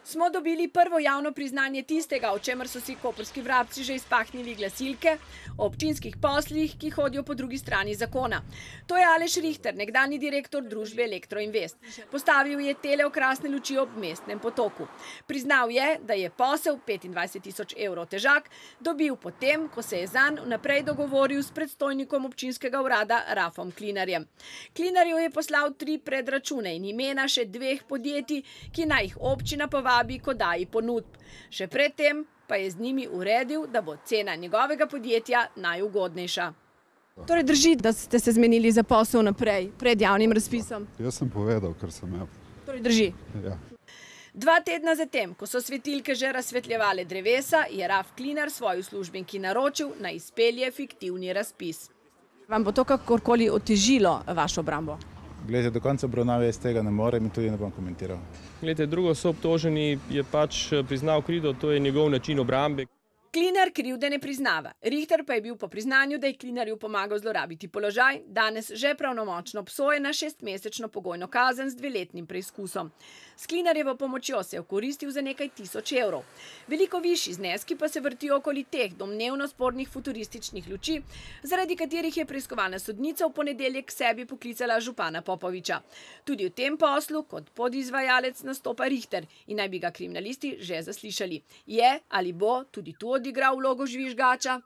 Smo dobili prvo javno priznanje tistega, o čemer so si koprski vrabci že izpahnili glasilke, o občinskih poslih, ki hodijo po drugi strani zakona. To je Aleš Rihter, nekdanji direktor družbe Elektroinvest. Postavil je teleokrasne luči ob mestnem potoku. Priznal je, da je posel 25.000 evrov težak dobil potem, ko se je zanj vnaprej dogovoril s predstojnikom občinskega urada Rafom Klinarjem. Klinarju je poslal 3 predračune in imena še 2 podjetij, ki naj jih občina povabi k oddaji ponudb. Še predtem pa je z njimi uredil, da bo cena njegovega podjetja najugodnejša. Torej drži, da ste se zmenili za posel naprej, pred javnim razpisom? Jaz sem povedal, kar sem imel. Torej drži? Ja. 2 tedna zatem, ko so svetilke že razsvetljevale drevesa, je Raf Klinar svoji uslužbenki naročil, naj izpelje fiktivni razpis. Vam bo to kakorkoli otežilo vašo obrambo? Glede, do konca obravnave jaz tega ne morem in tudi ne bom komentiral. Glede, drugo soobtoženi je pač priznal krivdo, to je njegov način obrambe. Klinar krivde ne priznava. Rihter pa je bil po priznanju, da je Klinarju pomagal zlorabiti položaj, danes že pravnomočno obsojen na 6-mesečno pogojno kazen z 2-letnim preizkusom. S Klinarjevo pomočjo se je okoristil za nekaj tisoč evrov. Veliko višji zneski pa se vrtijo okoli teh domnevno spornih futurističnih luči, zaradi katerih je preiskovalna sodnica v ponedeljek k sebi poklicala župana Popoviča. Tudi v tem poslu kot podizvajalec nastopa Rihter in naj bi ga kriminalisti že zaslišali. Je ali bo tudi tu odigral vlogo žvižgača?